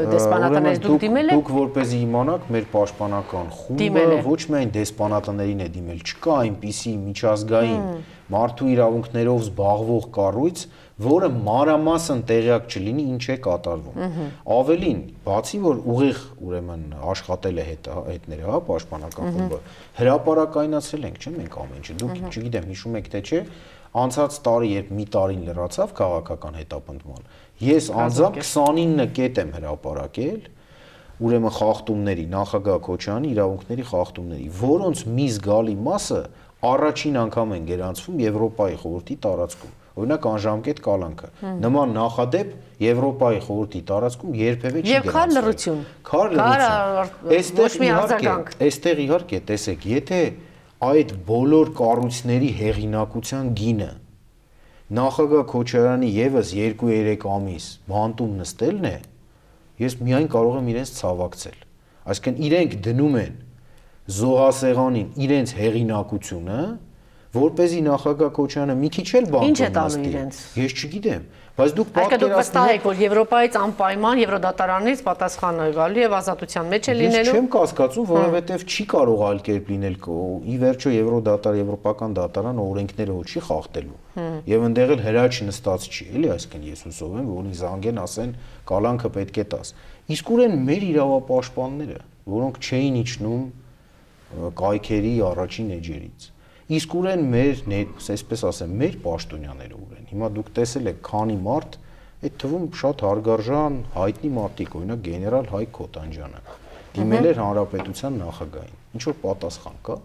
դեսպանատներից դուք դիմել եք։ Դուք որպեսզի իմանաք, մեր պաշտպանական խումբը ոչ միայն դեսպանատներին է դիմել, չկա այնպիսի միջազգային մարդու իրավունքներով զբաղվող կառույց, որը մանրամասն տեղյակ չլինի ինչ է կատարվում։ Ավելին, բացի որ ուղիղ ուրեմն աշխատել է հետները, հա, պաշտպանական խումբը, հրապարակայնացրել ենք, չէ՞, մենք ամեն ինչ։ Դուք չգիտեմ, հիշում եք թե չէ, անցած տարի, երբ մի տարին լրացավ քաղաքական հետապնդման, ես անձամբ քսանինը կետ եմ հրապարակել, ուրեմն խախտումների, նախագահ Քոչարյանի իրավունքների խախտումների, որոնց մի զգալի մասը առաջին անգամ են գերանցվում Եվրոպայի խորհրդի տարածքում։ Օրինակ անժամկետ կալանքը։ Նման նախադեպ Եվրոպայի խորհրդի տարածքում երբևէ չի գրանցվել։ Եվ քար լռություն։ Քար լռություն։ Այստեղ իհարկե, տեսեք, եթե այդ բոլոր կառույցների հեղինակության գինը նախագահ Քոչարյանի եւս երկու-երեք ամիս բանտում նստելն է, ես միայն կարող եմ իրենց ցավակցել։ Այսինքն իրենք դնում են զոհասեղանին իրենց հեղինակությունը, որպեսզի նախագահ Քոչարյանը մի քիչ էլ բանտում նստի։ Ինչ է տալու իրենց։ Ես չգիտեմ, բայց դուք պատկերացնում եք, որ Եվրոպայից անպայման Եվրոդատարանից պատասխան է գալու եւ ազատության մեջ է լինելու։ Ես չեմ կասկածում, որովհետեւ չի կարող այլ կերպ լինել։ Ի վերջո Եվրոդատար, Եվրոպական դատարանը օրենքները ոչ չի խախտելու։ Եվ այնտեղ էլ հրաչ նստած չի, էլի, այսինքն ես հուսով եմ, որ ինձ անգեն ասեն կալանքը պետք է տաս։ Իսկ ուրեն մեր իրավապաշտպանները, որոնք չէին իջնում կայքերի առաջին էջերից։ Իսկ ուրեն մեր, այսպես ասեմ, մեր պաշտոնյաները ուրեն։ Հիմա դուք տեսել եք քանի մարդ, այդ թվում շատ հարգարժան հայտնի մարդիկ, օրինակ գեներալ Հայկ Քոթանջյանը, դիմել էր հանրապետության նախագահին։ Ինչ որ պատասխան կա։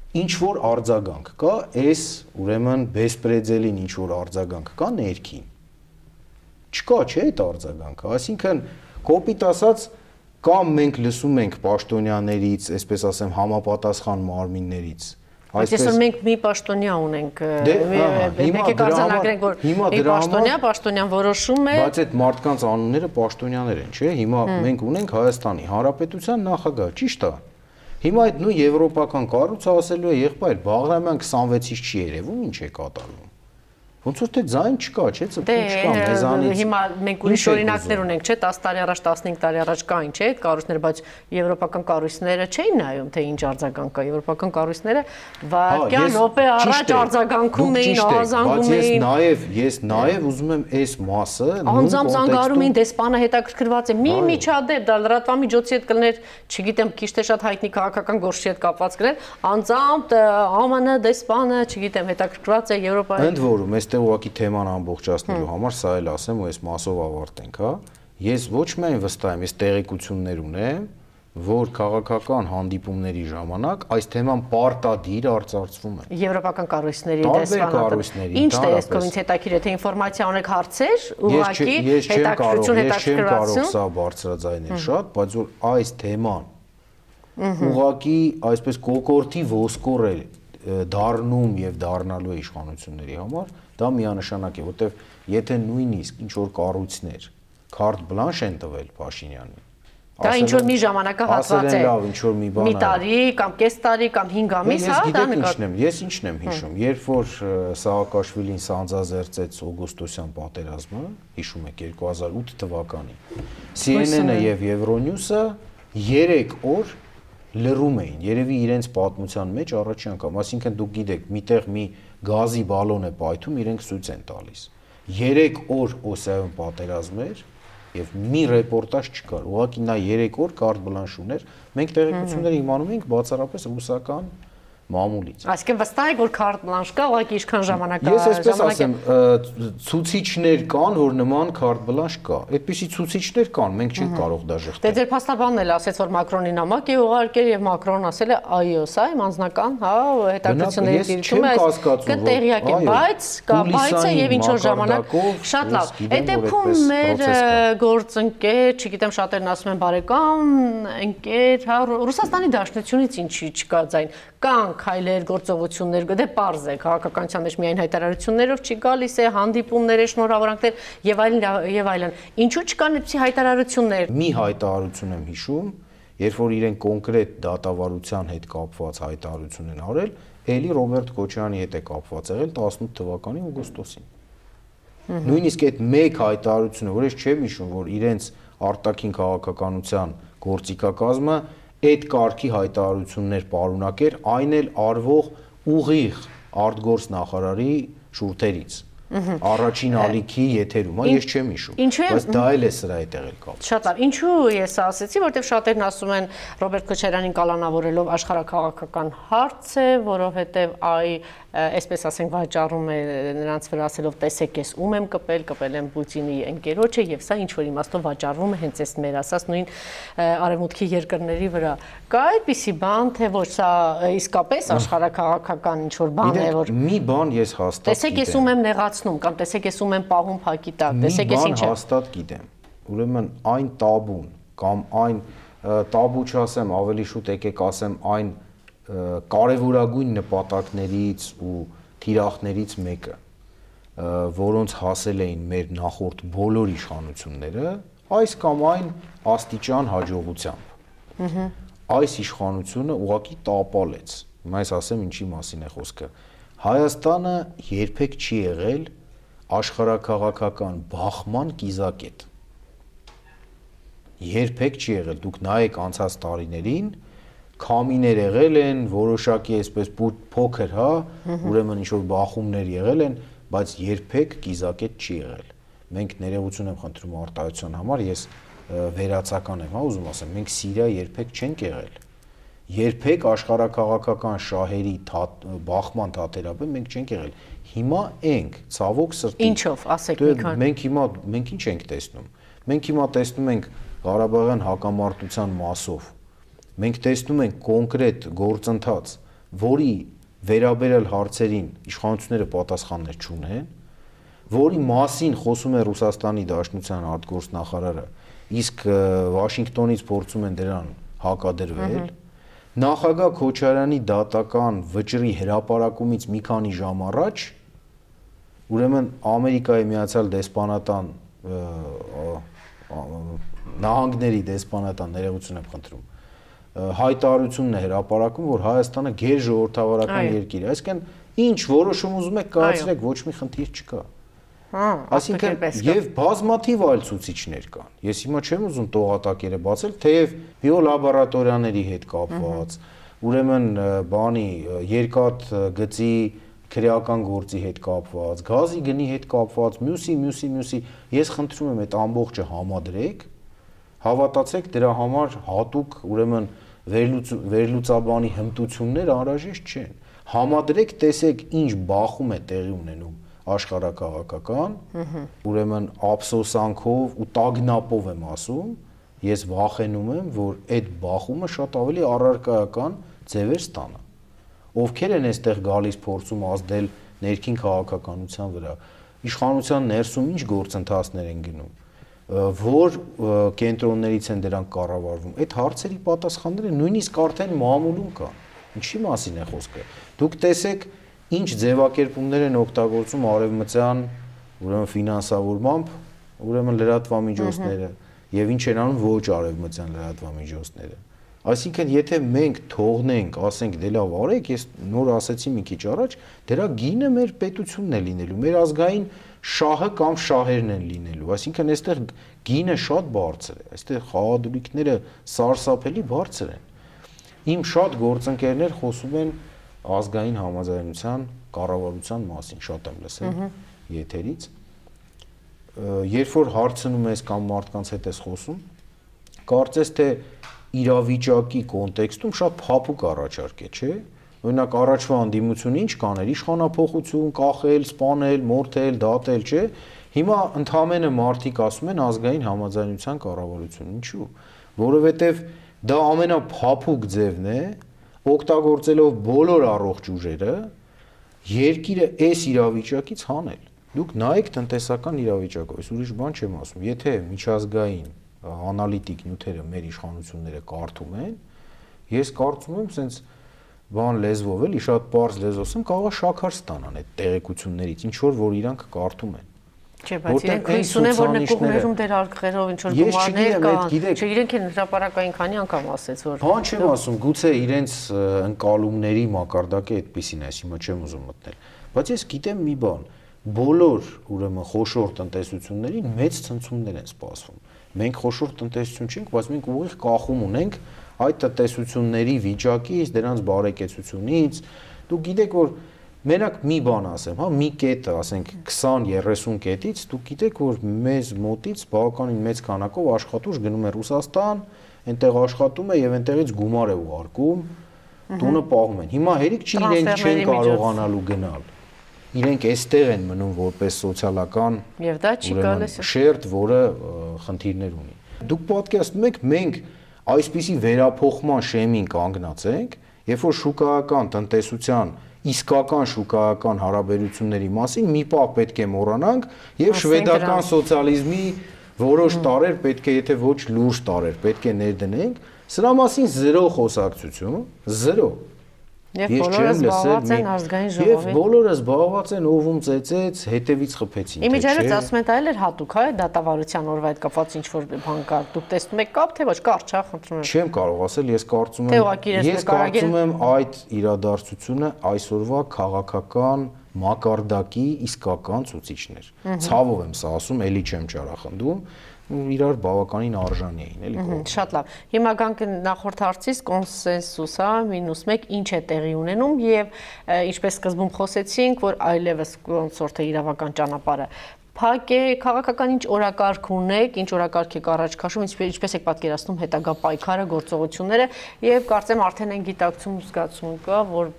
Ինչ որ արձագանք կա, այս ուրեմն բեսպրեդելին ինչ որ արձագանք կա ներքին։ Չկա, չէ՞ այդ արձագանքը, այսինքն կոպիտ ասած կամ մենք լսում ենք պաշտոնյաներից, այսպես ասեմ, համապատասխան մարմիններից։ Այսպես որ մենք մի պաշտոնյա ունենք, եկեք արձանագրենք, որ մի պաշտոնյա, պաշտոնյան որոշում է։ Բայց այդ մարդկանց անունները պաշտոնյաներ են, չէ՞։ Հիմա մենք ունենք Հայաստանի Հանրապետության նախագահ, ճիշտ է։ Հիմա այդ նույն եվրոպական կառույցը ասելու է, եղբայր, Բաղրամյան քսանվեցից չի երևում, ինչ է կատարվում։ Ոնց որ թե ձայն չկա, չէ՞, ծպտուն չկա մեզանից։ Հիմա մենք ուրիշ օրինակներ ունենք, չէ՞, տասը տարի առաջ, տասնհինգ տարի առաջ կային, չէ՞, այդ կառույցները, բայց եվրոպական կառույցները չէին նայում, թե ինչ արձագանք կա։ Եվրոպական կառույցները վարկյան րոպե առաջ արձագանքում էին, ահազանգում էին։ Բայց ես նաեւ ուզում եմ այս մասը անձամբ զանգարում էին, դեսպանը հետաքրքրված է։ Մի միջադեպ, դա լրատվամիջոցի հետ կլներ, չգիտեմ, քիչ թե շատ հայտնի քաղաքական գործի հետ կապված կներ, անձամբ ԱՄՆ դեսպանը, չգիտեմ, հետաքրքրված է Եվրոպայի։ Ընդ որում, այստեղ ուղղակի թեման ամբողջացնելու համար սա էլ ասեմ ու այս մասով ավարտենք, հա։ Ես ոչ միայն վստահ եմ, ես տեղեկություններ ունեմ, որ քաղաքական հանդիպումների ժամանակ այս թեման պարտադիր արծարծվում է։ Եվրոպական կառույցների դեսպանատը։ Ինչ տեսքով ինձ հետաքրքիր է, թե ինֆորմացիա ունեք հարցեր, ուղղակի հետաքրքրություն հետաքրքրվածություն։ Ես չեմ կարող սա բարձրաձայնել շատ, բայց որ այս թեման ուղղակի այսպես կոկորտի ոսկոր է դառնում եւ դառնալու է իշխանությունների համար, դա միանշանակ է, որտեվ եթե նույնիսկ ինչ որ կառույցներ քարտ բլանշ են տվել Փաշինյանին, դա ինչ որ մի ժամանակահատված է, լավ, ինչ որ մի բան, մի տարի կամ կես տարի կամ հինգ ամիս, հա, դա նկատի։ Ես ինչն եմ հիշում, երբ որ Սաակաշվիլին սանձազերծեց օգոստոսյան պատերազմը, հիշում եք երկու հազար ութ թվականին, C N N-ը եւ Euronews-ը երեք օր լռում էին, երևի իրենց պատմության մեջ առաջին անգամ, այսինքն դուք գիտեք, միտեղ մի գազի բալոն է պայթում, իրենք ցույց են տալիս։ երեք օր Օսիայում պատերազմ էր, եւ մի ռեպորտաժ չկար։ Ուղղակի նա երեք օր կարտ բլանշ ուներ։ Մենք տեղեկությունները իմանում ենք բացառապես ռուսական մամուլից։ Այսինքն վստահ եք, որ կարտ բլանշ կա, ուղղակի ինչքան ժամանակ կա։ Ես այսպես ասեմ, ցուցիչներ կան, որ նման կարտ բլանշ կա։ Այդպիսի ցուցիչներ կան, մենք չենք կարող դա Դե ժխտել։ ձեր փաստաբանն էլ ասեց, որ Մակրոնի նամակ է ուղարկել եւ Մակրոնն ասել է այո, սա իմ անձնական, հա, հետաքրքրությունների դիրքում է, կտեղյակ է, բայց կա բայցը եւ ինչ որ ժամանակ շատ լավ։ Այդ դեպքում մեր գործընկեր, չգիտեմ, շատերն ասում են բարեկամ, ընկեր, հա, Ռուսաստանի Դաշնությունից ինչի չկա ձայն։ Կան քայլեր, գործողություններ, դե պարզ է, քաղաքականության մեջ միայն հայտարարություններով չի գալիս է, հանդիպումներ, շնորհավորանքներ եւ այլն եւ այլն։ Ինչու չկան այդպիսի հայտարարություններ։ Մի հայտարարություն եմ հիշում, երբ որ իրեն կոնկրետ դատավարության հետ կապված հայտարարություն են արել, ելի Ռոբերտ Քոչարյանի հետ է կապված եղել տասնութ թվականի օգոստոսին։ Նույնիսկ այդ մեկ հայտարարությունը, որ ես չեմ հիշում, որ իրենց արտաքին քաղաքականության գործիքակազմը այդ կարգի հայտարարություններ պարունակեր, այն էլ արվող ուղիղ արտգործ նախարարի շուրթերից։ Առաջին ալիքի եթերում, ես չեմ հիշում, բայց դա էլ է սրա հետ եղել կապ։ Շատ լավ, ինչու ես ասեցի, որտեղ շատերն ասում են Ռոբերտ Քոչարյանին կալանավորելով աշխարհաքաղաքական հարց է, որովհետև այ այսպես ասենք վաճառում է նրանց վրա ասելով տեսեք ես ում եմ կպել, կպել եմ Պուտինի ընկերոջը եւ սա ինչ որ իմաստով վաճառվում է հենց այս մեր ասած նույն արևմուտքի երկրների վրա։ Կա այդպիսի բան, թե ոչ սա իսկապես աշխարհաքաղաքական ինչ որ բան է, որ մի բան ես հաստատ տեսեք ես ում եմ նեղացնում կամ տեսեք ես ում եմ պահում փակի տակ, տեսեք ես ինչ է։ Մի բան հաստատ գիտեմ։ Ուրեմն այն տաբուն կամ այն տաբու չասեմ, ավելի շուտ եկեք ասեմ այն կարևորագույն նպատակներից ու թիրախներից մեկը, որոնց հասել էին մեր նախորդ բոլոր իշխանությունները, այս կամ այն աստիճան հաջողությամբ։ Այս իշխանությունը ուղղակի տապալեց։ Հիմա ես ասեմ ինչի մասին է խոսքը։ Հայաստանը երբեք չի եղել աշխարհաքաղաքական բախման կիզակետ։ Երբեք չի եղել։ Դուք նայեք անցած տարիներին քամիներ եղել են, որոշակի այսպես փոքր, հա, ուրեմն ինչ որ բախումներ եղել են, բայց երբեք կիզակետ չի եղել։ Մենք ներողություն եմ խնդրում արտահայտության համար, ես վերացական եմ, հա, ուզում ասեմ, մենք Սիրիա երբեք չենք եղել։ Երբեք աշխարհաքաղաքական շահերի բախման թատերաբեմ մենք չենք եղել։ Հիմա ենք, ցավոք սրտի։ Ինչով, ասեք մի քան։ Մենք հիմա մենք ինչ ենք տեսնում։ Մենք հիմա տեսնում ենք Ղարաբաղյան հակամարտության մասով մենք տեսնում ենք կոնկրետ գործընթաց, որի վերաբերյալ հարցերին իշխանությունները պատասխաններ չունեն, որի մասին խոսում է Ռուսաստանի Դաշնության արտգործնախարարը, իսկ Վաշինգտոնից փորձում են դրան հակադրվել, նախագահ Քոչարյանի դատական վճռի հրապարակումից մի քանի ժամ առաջ, ուրեմն Ամերիկայի Միացյալ Դեսպանատան նահանգների դեսպանատան ներողություն եմ խնդրում հայտարարությունն է հրապարակում, որ Հայաստանը գերժողովրդավարական երկիր է, այսինքն ինչ որոշում ուզում եք կայացրեք, ոչ մի խնդիր չկա։ Այսինքն եւ բազմաթիվ այլ ցուցիչներ կան։ Ես հիմա չեմ ուզում տողատակերը բացել, թեև բիոլաբորատորիաների հետ կապված, ուրեմն բանի երկաթ գծի քրեական գործի հետ կապված, գազի գնի հետ կապված, մյուսի, մյուսի, մյուսի, ես խնդրում եմ այդ ամբողջը համադրեք, հավատացեք դրա համար հատուկ ուրեմն վերլուծաբանի հմտություններ անհրաժեշտ չեն։ Համադրեք, տեսեք ինչ բախում է տեղի ունենում աշխարհաքաղաքական, ուրեմն ափսոսանքով ու տագնապով եմ ասում, ես վախենում եմ, որ այդ բախումը շատ ավելի առարկայական ձևեր ստանա։ Ովքեր են այստեղ գալիս փորձում ազդել ներքին քաղաքականության վրա, իշխանության ներսում ինչ գործընթացներ են գնում, որ կենտրոններից են դրանք կառավարվում, այդ հարցերի պատասխանները նույնիսկ արդեն մամուլում կան։ Ինչի մասին է խոսքը։ Դուք տեսեք ինչ ձևակերպումներ են օգտագործում արևմտյան, ուրեմն ֆինանսավորմամբ, ուրեմն լրատվամիջոցները եւ ինչ են անում ոչ արևմտյան լրատվամիջոցները։ Այսինքն եթե մենք թողնենք, ասենք դե լավ արեք, ես նոր ասեցի մի քիչ առաջ, դրա գինը մեր պետությունն է լինելու, մեր ազգային շահը կամ շահերն են լինելու, այսինքն այստեղ գինը շատ բարձր է, այստեղ խաղադրույքները սարսափելի բարձր են։ Իմ շատ գործընկերներ խոսում են ազգային համաձայնության կառավարության մասին, շատ եմ լսել եթերից։ երբ որ հարցնում ես կամ մարդկանց հետ ես խոսում, կարծես թե իրավիճակի կոնտեքստում շատ փափուկ առաջարկ է, չէ՞։ Օրինակ առաջվա անդիմությունը ինչ կաներ, իշխանափոխություն, կախել, սպանել, մորթել, դատել, չէ՞։ Հիմա ընդհանրապես մարդիկ ասում են ազգային համաձայնության կառավարություն, ինչու՞։ Որովհետև դա ամենափափուկ ձևն է, օգտագործելով բոլոր առողջ ուժերը, երկիրը այս իրավիճակից հանել։ Դուք նայեք տնտեսական իրավիճակով, ես ուրիշ բան չեմ ասում։ Եթե միջազգային անալիտիկ նյութերը մեր իշխանությունները կարդում են, ես կարծում եմ, սենց բան լեզվով էլի շատ པարզ լեզվով եմ կարող շաքար ստանան այդ տեղեկություններից, ինչ որ որ իրանք կարդում են։ Չէ, բայց իրենք հույս ունեն, որ նկուղներում դեր արգղերով ինչ որ գումարներ կան։ Չէ, իրենք են հրապարակային քանի անգամ ասեց, որ բան չեմ ասում, գուցե իրենց ընկալումների մակարդակը այդպեսին է, հիմա չեմ ուզում մտնել։ Բայց ես գիտեմ մի բան, բոլոր ուրեմն խոշոր տնտեսություններին մեծ ցնցումներ են սպասվում։ Մենք խոշոր տնտեսություն չենք, բայց մենք ուղիղ կախում ունենք այդ տնտեսությունների վիճակից, դրանց բարեկեցությունից։ Դուք գիտեք, որ մենակ մի բան ասեմ, հա, մի կետը, ասենք քսան երեսուն կետից, դուք գիտեք, որ մեզ մոտից բավականին մեծ քանակով աշխատուժ գնում է Ռուսաստան, այնտեղ աշխատում է եւ այնտեղից գումար է ուղարկում, տունը պահում են։ Հիմա հերիք չի իրենք չեն կարողանալու գնալ։ Իրենք այստեղ են մնում որպես սոցիալական եւ դա չի գալիս շերտ, որը խնդիրներ ունի։ Դուք պատկերացնում եք, մենք այսպիսի վերափոխման շեմին կանգնած ենք, երբ որ շուկայական տնտեսության իսկական շուկայական հարաբերությունների մասին մի պահ պետք է մոռանանք եւ շվեդական սոցիալիզմի որոշ տարեր պետք է, եթե ոչ լուրջ տարեր, պետք է ներդնենք, սրա մասին զրո խոսակցություն, զրո։ Եվ բոլորը զբաղված են ազգային ժողովին։ Եվ բոլորը զբաղված են օվում ծեծեց, հետևից խփեցին։ Իմիջիայլոց ասում են դա էլ էր հատուկ, հա, դատավարության օրվա հետ կապված ինչ որ բան կա։ Դուք տեսնում եք կապ, թե ոչ, կարճ, հա, խնդրում եմ։ Չեմ կարող ասել, ես կարծում եմ, ես կարծում եմ այդ իրադարձությունը այսօրվա քաղաքական մակարդակի իսկական ցուցիչներ։ Ցավով եմ սա ասում, էլի չեմ ճարախնդում, իրար բավականին արժանի էին, էլի կողմ։ Շատ լավ։ Հիմա գանք նախորդ հարցից կոնսենսուս, հա, մինուս մեկ ինչ է տեղի ունենում եւ ինչպես սկզբում խոսեցինք, որ այլևս ոնց որ թե իրավական ճանապարհը փակ է, քաղաքական ինչ օրակարգ ունեք, ինչ օրակարգ եք առաջ քաշում, ինչպես եք պատկերացնում հետագա պայքարը, գործողությունները եւ կարծեմ արդեն այն գիտակցում զգացում կա, որ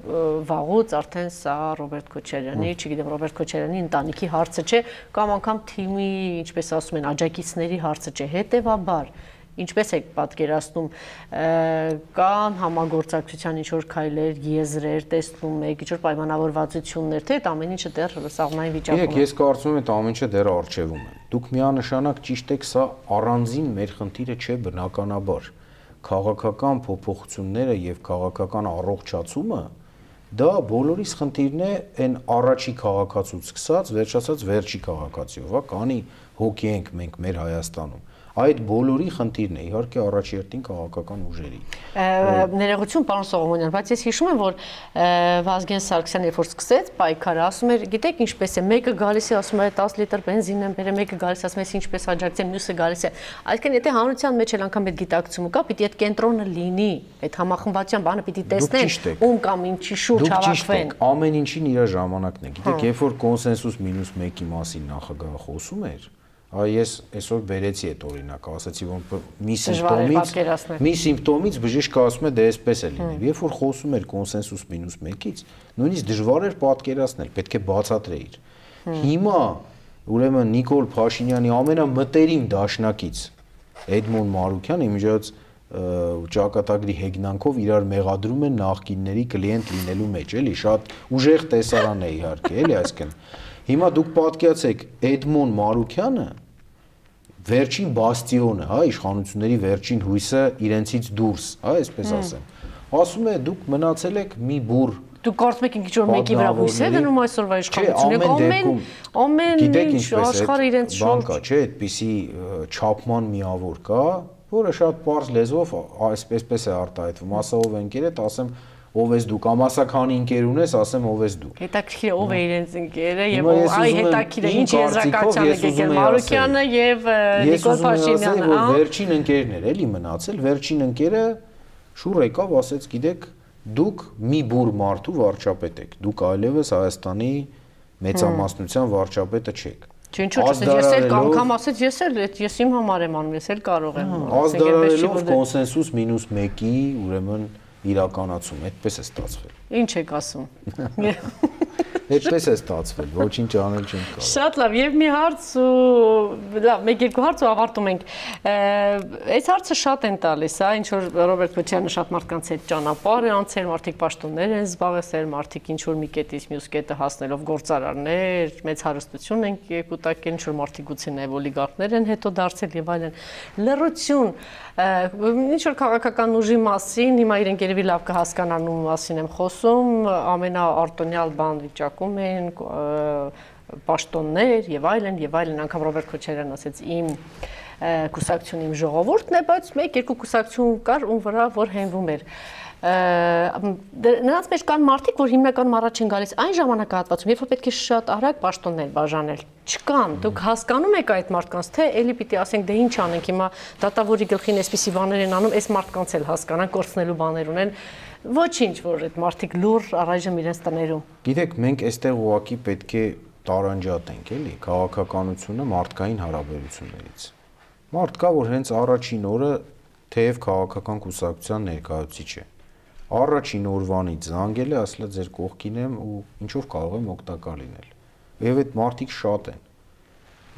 վաղուց արդեն սա Ռոբերտ Քոչարյանի, չգիտեմ, Ռոբերտ Քոչարյանի ընտանիքի հարցը չէ, կամ անգամ թիմի, ինչպես ասում են, աջակիցների հարցը չէ, հետեւաբար ինչպես եք պատկերացնում, կան համագործակցության ինչ-որ քայլեր, եզրեր, տեսնում եք, ինչ-որ պայմանավորվածություններ, թե այդ ամեն ինչը դեռ սաղմնային վիճակում է։ Ես կարծում եմ, այդ ամեն ինչը դեռ առջևում է։ Դուք միանշանակ ճիշտ եք, սա առանձին մեր խնդիրը չէ բնականաբար։ Քաղաքական փոփոխությունները եւ քաղաքական առողջացումը դա բոլորիս խնդիրն է, այն առաջի քաղաքացուց սկսած, վերջացած վերջի քաղաքացիով, հա, կանի հոգի ենք մենք մեր Հայաստանում։ Այդ բոլորի խնդիրն է, իհարկե առաջերտին քաղաքական ուժերի։ Ներողություն, պարոն Սողոմոնյան, բայց ես հիշում եմ, որ Վազգեն Սարգսյանը երբ որ սկսեց պայքարը, ասում էր, գիտեք ինչպես է, մեկը գալիս է, ասում է դես լիտր բենզին եմ բերել, մեկը գալիս ասում է, ինչպես աջակցեմ, մյուսը գալիս է։ Այսինքն, եթե հանրության մեջ էլ անգամ այդ գիտակցումը կա, պիտի այդ կենտրոնը լինի, այդ համախմբվածության բանը պիտի տեսնեն, ում կամ ինչի շուրջ հավաքվեն։ Ամեն ինչին իր ժամանակն է։ Գիտեք, երբ որ կոնսենսուս մինուս մեկի մասին նախագահը խոսում էր, Ես այսօր բերեցի այդ օրինակը, ասացի, որ մի սիմպտոմից, մի սիմպտոմից բժիշկը ասում է, դե այսպես է լինի։ Երբ որ խոսում էր կոնսենսուս մինուս մեկից, նույնիսկ դժվար էր պատկերացնել, պետք է բացատրեիր։ Հիմա, ուրեմն Նիկոլ Փաշինյանի ամենամտերիմ դաշնակից Էդմոն Մարուկյանը իմիջիայլոց ճակատագրի հեգնանքով իրար մեղադրում են նախկինների կլիենտ լինելու մեջ, էլի, շատ ուժեղ տեսարան է իհարկե, էլի, այսինքն Հիմա դուք պատկերացեք Էդմոն Մարուկյանը վերջին բաստիոնը, հա, իշխանությունների վերջին հույսը իրենցից դուրս, հա, այսպես ասեմ։ Ասում է դուք մնացել եք մի բուր։ Դուք կարծում եք ինչ որ մեկի վրա հույս է դնում այսօրվա իշխանությունը, ամեն ամեն ինչ աշխարհը իրենց շուրջ կա, չէ, այդպիսի չափման միավոր կա, որը շատ པարզ լեզվով այսպես է արտահայտվում, ասով ընկերդ, ասեմ ով ես դու կամ ասականի ընկեր ունես, ասեմ ով ես դու։ Հետաքրքիր ով է իրենց ընկերը եւ այ հետաքրքիր է ինչ եզրակացության է եկել Մարուկյանը եւ Նիկոլ Փաշինյանը, հա։ Վերջին ընկերն էր էլի մնացել, վերջին ընկերը շուռ եկավ, ասեց, գիտեք, դուք մի բուր մարդու վարչապետ եք, դուք այլևս Հայաստանի մեծամասնության վարչապետը չեք։ Ինչու՞ չէ, ես էլ անգամ ասեց, ես էլ ես իմ համար եմ անում, ես էլ կարող եմ։ Ազդարարելով կոնսենսուս մինուս մեկի, ուրեմն իրականացում, այդպես է ստացվել։ Ինչ եք ասում։ Այդպես է ստացվել, ոչինչ անել չենք կարող։ Շատ լավ, եւ մի հարց ու լավ, մեկ-երկու հարց ու ավարտում ենք։ Այս հարցը շատ են տալիս, հա, ինչ որ Ռոբերտ Քոչարյանը շատ մարդկանց հետ ճանապարհ է անցել, մարդիկ պաշտոններ են զբաղեցել, մարդիկ ինչ որ մի կետից մյուս կետը հասնելով գործարարներ, մեծ հարստություն են կուտակել, ինչ որ մարդիկ գուցե նաեւ օլիգարխներ են հետո դարձել եւ այլն։ Լռություն, ինչ որ քաղաքական ուժի մասին, հիմա իրենք երևի լավ կհասկանան ում մասին եմ խոսում, ամենաարտոնյալ բան վիճակում են պաշտոններ եւ այլն եւ այլն, անգամ Ռոբերտ Քոչարյանն ասեց իմ կուսակցություն իմ ժողովուրդն է, բայց մեկ-երկու կուսակցություն կար ում վրա որ հենվում էր։ Նրանց մեջ կան մարդիկ, որ հիմնականում առաջ են գալիս այն ժամանակահատվածում, երբ որ պետք է շատ արագ պաշտոններ բաժանել։ Չկան, դուք հասկանում եք այդ մարդկանց, թե էլի պիտի ասենք դե ինչ անենք, հիմա դատավորի գլխին այսպիսի բաներ են անում, այս մարդկանց էլ հասկանան, կորցնելու բաներ ունեն։ Ոչինչ, որ այդ մարդիկ լուր առայժմ իրենց տներում։ Գիտեք, մենք այստեղ ուղղակի պետք է տարանջատենք, էլի, քաղաքականությունը մարդկային հարաբերություններից։ Մարդ կա, որ հենց առաջին օրը թեև քաղաքական կուսակցության ներկայացուցիչ է։ Առաջին օրվանից զանգել է, ասել է ձեր կողքին եմ ու ինչով կարող եմ օգտակար լինել։ Եվ այդ մարդիկ շատ են։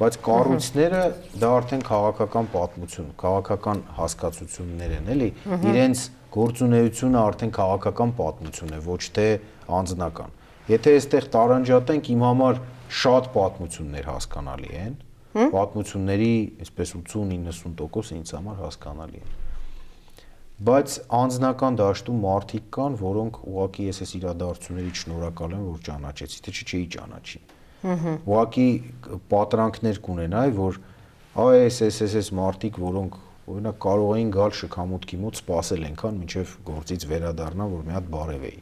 Բայց կառույցները դա արդեն քաղաքական պատմություն, քաղաքական հասկացություններ են, էլի, իրենց գործունեությունը արդեն քաղաքական պատմություն է, ոչ թե անձնական։ Եթե այստեղ տարանջատենք, իմ համար շատ պատմություններ հասկանալի են, պատմությունների այսպես ութսուն-իննսուն տոկոս ինձ համար հասկանալի են։ Բայց անձնական դաշտում մարդիկ կան, որոնք ուղղակի ես այս իրադարձություններից շնորհակալ եմ, որ ճանաչեցի, թե չէ չէի ճանաչի։ Ուղղակի պատրանքներ կունենայի, որ այս այս այս այս մարդիկ, որոնք օրինակ կարող էին գալ շքամուտքի մոտ սպասել այնքան, մինչև գործից վերադառնան, որ մի հատ բարևեի։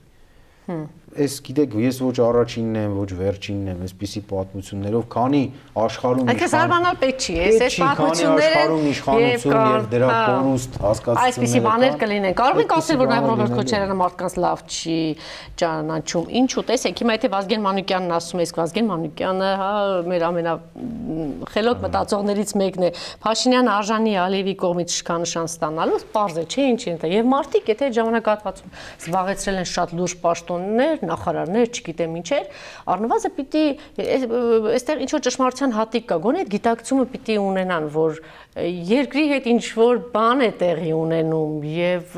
Այս գիտեք, ես ոչ առաջինն եմ, ոչ վերջինն եմ, այսպիսի պատմություններով, քանի աշխարհում իշխան։ Այդպես արմանալ պետք չի, այս պատմությունները աշխարհում իշխանություն եւ դրա կորուստ հասկացությունները։ Այսպիսի բաներ կլինեն։ Կարող ենք ասել, որ նաեւ Ռոբերտ Քոչարյանը մարդկանց լավ չի ճանաչում։ Ինչու՞, տեսեք, հիմա եթե Վազգեն Մանուկյանն ասում է, իսկ Վազգեն Մանուկյանը, հա, մեր ամենախելոք մտածողներից մեկն է։ Փաշինյանը արժանի Ալիևի կողմից իշխանության ստանալու, պարզ է, չէ՞ ինչ են դա։ Եվ մարդիկ, եթե ժամանակահատվածում զբաղեցրել են շատ լուրջ պաշտոններ, նախարարներ, չգիտեմ ինչեր, առնվազն պիտի այստեղ ինչ որ ճշմարտության հատիկ կա, գոնե այդ գիտակցումը պիտի ունենան, որ երկրի հետ ինչ որ բան է տեղի ունենում եւ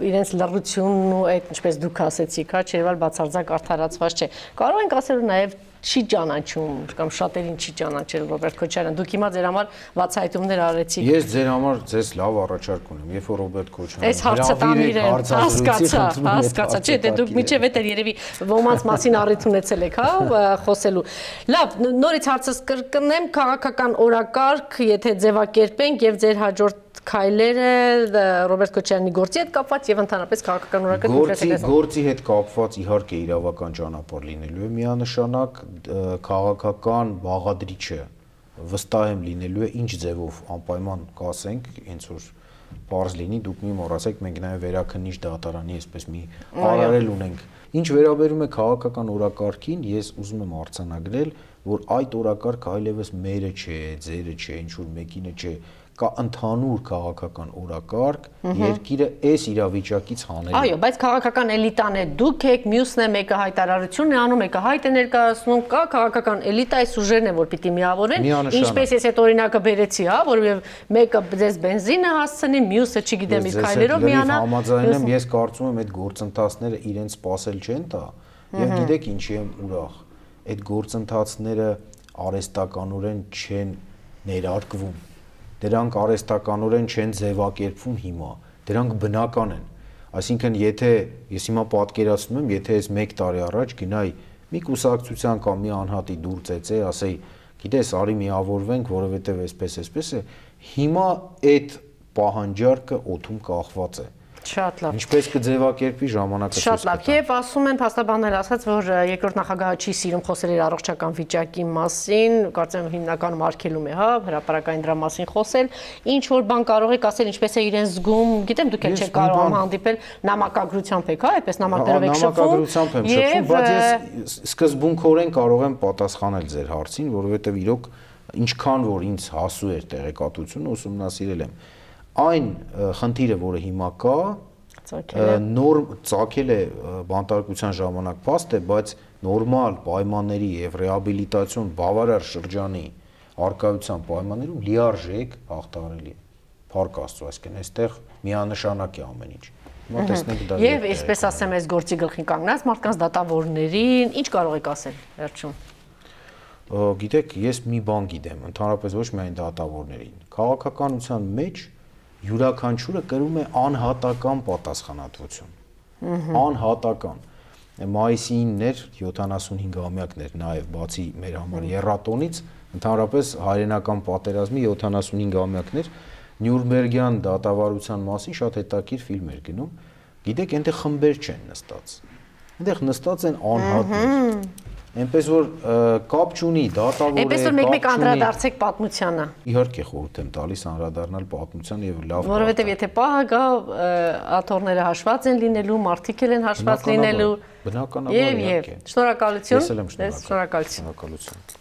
իրենց լռությունն ու այդ ինչպես դուք ասեցիք, հա, չէ՞ որ բացարձակ արդարացված չէ։ Կարող ենք ասել նաեւ չի ճանաչում կամ շատերին չի ճանաչել Ռոբերտ Քոչարյան։ Դուք հիմա ձեր համար բացահայտումներ արեցիք։ Ես ձեր համար ձեզ լավ առաջարկ ունեմ, երբ որ Ռոբերտ Քոչարյանը այս հարցը տանիր է, հասկացա, հասկացա, չէ, դե դուք միջև էդ երևի ոմանց մասին առիթ ունեցել եք, հա, խոսելու։ Լավ, նորից հարցս կրկնեմ, քաղաքական օրակարգ, եթե ձևակերպենք եւ ձեր հաջորդ քայլերը Ռոբերտ Քոչարյանի գործի հետ կապված եւ ընդհանրապես քաղաքական օրակարգ կոնկրետ գործի հետ կապված իհարկե իրավական ճանապարհ լինելու է միանշանակ քաղաքական բաղադրիչը վստահ եմ լինելու է ինչ ձևով անպայման կասենք հենց որ բարձ լինի դուք մի մոռացեք մենք նաեւ վերաքննիչ դատարանի այսպես մի արարել ունենք ինչ վերաբերում է քաղաքական օրակարգին ես ուզում եմ արձանագրել որ այդ օրակարգը այլևս մերը չէ ձերը չէ ինչ որ մեկինը չէ կա ընդհանուր քաղաքական օրակարգ երկիրը այս իրավիճակից հանելու։ Այո, բայց քաղաքական էլիտան է դուք եք, մյուսն է մեկը հայտարարություն է անում, մեկը հայտ է ներկայացնում, կա քաղաքական էլիտա, այս ուժերն են, որ պիտի միավորեն, ինչպես ես այդ օրինակը բերեցի, հա, որովհետև մեկը ձեզ բենզինը հասցնի, մյուսը չգիտեմ իսկ քայլերով միանա։ Համաձայն եմ, ես կարծում եմ այդ գործընթացները իրենց սпасել չեն տա, եւ գիտեք ինչի եմ ուրախ։ Այդ գործընթացները արհեստականորեն չեն ներարկվում Դրանք արհեստականորեն չեն ձևակերպվում հիմա, դրանք բնական են։ Այսինքն, եթե ես հիմա պատկերացնում եմ, եթե ես մեկ տարի առաջ գնայի մի կուսակցության կամ մի անհատի դուր ծեծեի, ասեի, գիտես, արի միավորվենք, որովհետև այսպես, այսպես է, հիմա այդ պահանջարկը օդում կախված է։ Շատ լավ։ Ինչպես կձևակերպի ժամանակը։ Շատ լավ։ Եվ ասում են փաստաբաններ ասած, որ երկրորդ նախագահը չի սիրում խոսել իր առողջական վիճակի մասին, կարծեմ հիմնականում արգելում է, հա, հրապարակային դրա մասին խոսել։ Ինչ որ բան կարող եք ասել, ինչպես է իրեն զգում, գիտեմ դուք էլ չեք կարող հանդիպել նամակագրությամբ եք, հա, այդպես նամակներով եք շփվում։ Նամակագրությամբ եմ շփվում, բայց ես սկզբունքորեն կարող եմ պատասխանել ձեր հարցին, որովհետև իրոք ինչքան որ ինձ հասու էր տեղեկատվությունը, ուսումնասիրել եմ։ Այն խնդիրը, որը հիմա կա, նոր ծագել է բանտարկության ժամանակ փաստ է, բայց նորմալ պայմանների եւ ռեաբիլիտացիոն բավարար շրջանի արկայության պայմաններում լիարժեք հաղթահարելի է։ Փառք Աստծո, այսինքն այստեղ միանշանակ է ամեն ինչ։ Հիմա տեսնենք դա։ Եվ այսպես ասեմ, այս գործի գլխին կանգնած մարդկանց դատավորներին ինչ կարող եք ասել վերջում։ Գիտեք, ես մի բան գիտեմ, ընդհանրապես ոչ միայն դատավորներին։ Քաղաքականության մեջ յուրաքանչյուրը կրում է անհատական պատասխանատվություն։ Անհատական։ Մայիսին էր յոթանասունհինգամյակներ, նաև բացի մեր համար եռատոնից, ընդհանրապես հայրենական պատերազմի յոթանասունհինգամյակներ Նյուրնբերգյան դատավարության մասին շատ հետաքրքիր ֆիլմ էր գնում։ Գիտեք, այնտեղ խմբեր չեն նստած։ Այնտեղ նստած են անհատներ։ Այնպես որ կապ չունի դատավորը, այնպես որ մեկ-մեկ անդրադարձեք պատմությանը։ Իհարկե խորհուրդ եմ տալիս անդրադառնալ պատմությանը եւ լավ։ Որովհետեւ եթե պահը գա, աթոռները հաշված են լինելու, մարդիկ են հաշված լինելու։ Բնականաբար, եւ եւ շնորհակալություն։ Ես էլ եմ շնորհակալ։ Շնորհակալություն։ Շնորհակալություն։